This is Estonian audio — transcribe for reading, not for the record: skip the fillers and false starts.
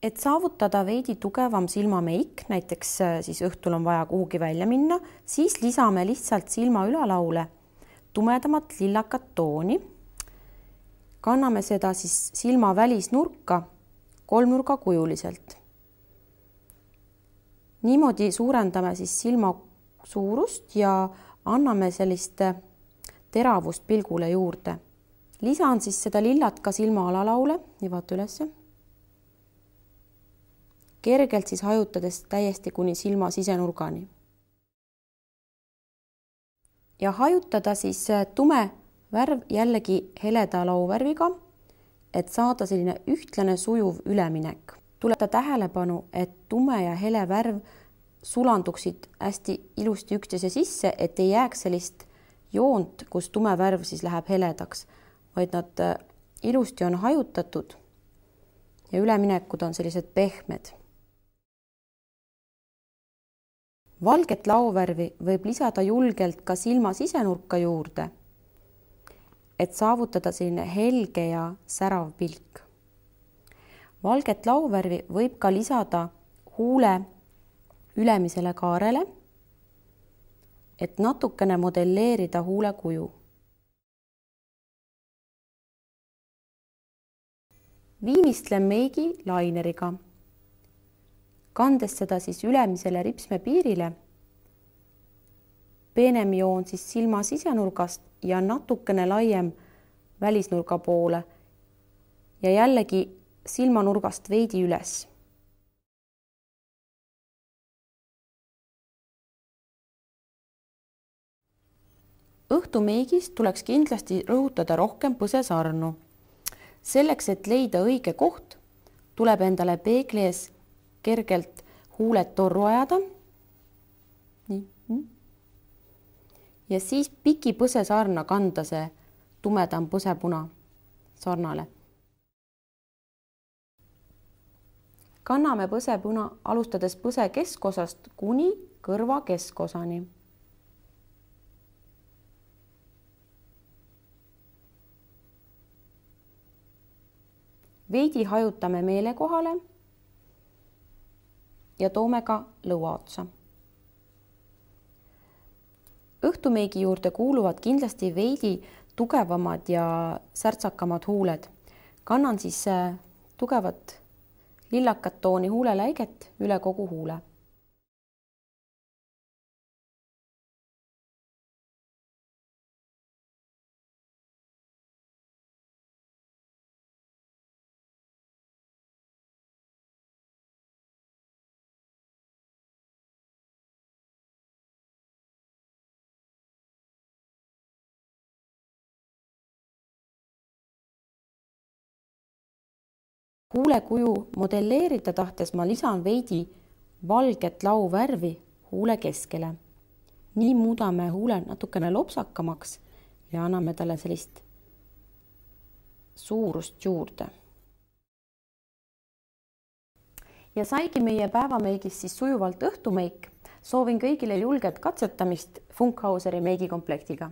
Et saavutada veidi tugevam silmameik, näiteks siis õhtul on vaja kuhugi välja minna, siis lisame lihtsalt silma ülalaule tumedamat lillakat tooni. Kanname seda siis silma välisnurka kolmnurgakujuliselt. Niimoodi suurendame siis silma suurust ja anname sellist teravust pilgule juurde. Lisan siis seda lillat ka silma alalaule ja vaata ülesse. Kergelt siis hajutades täiesti kuni silma sisenurgani. Ja hajutada siis tume värv jällegi heleda lauvärviga, et saada selline ühtlane sujuv üleminek. Tuleta tähelepanu, et tume ja hele värv sulanduksid hästi ilusti üksteise sisse, et ei jääks sellist joont, kus tume värv siis läheb heledaks, vaid nad ilusti on hajutatud ja üleminekud on sellised pehmed. Valget lauvärvi võib lisada julgelt ka silma sisenurka juurde, et saavutada selline helge ja särav pilk. Valget lauvärvi võib ka lisada huule ülemisele kaarele, et natukene modelleerida huule kuju. Viimistlen meigi laineriga. Kandes seda siis ülemisele ripsme piirile, peenem joon siis silma sisenurgast ja natukene laiem välisnurga poole ja jällegi silmanurgast veidi üles. Õhtumeigis tuleks kindlasti rõhutada rohkem põsesarnu. Selleks, et leida õige koht, tuleb endale peegli ees kergelt huuled torru ajada. Nii. Ja siis piki põsesarna kanda see tumedam põsepuna sarnale. Kanname põsepuna alustades põse keskosast kuni kõrva keskosani. Veidi hajutame meele kohale ja toome ka lõua otsa. Õhtumeigi juurde kuuluvad kindlasti veidi tugevamad ja särtsakamad huuled. Kannan siis tugevat lillakat tooni huuleläiget üle kogu huule. Huulekuju modelleerida tahtes ma lisan veidi valget lauvärvi huule keskele. Nii muudame huule natukene lopsakamaks ja anname talle sellist suurust juurde. Ja saigi meie päevameigis siis sujuvalt õhtumeik. Soovin kõigile julget katsetamist Funkhauseri meigikomplektiga.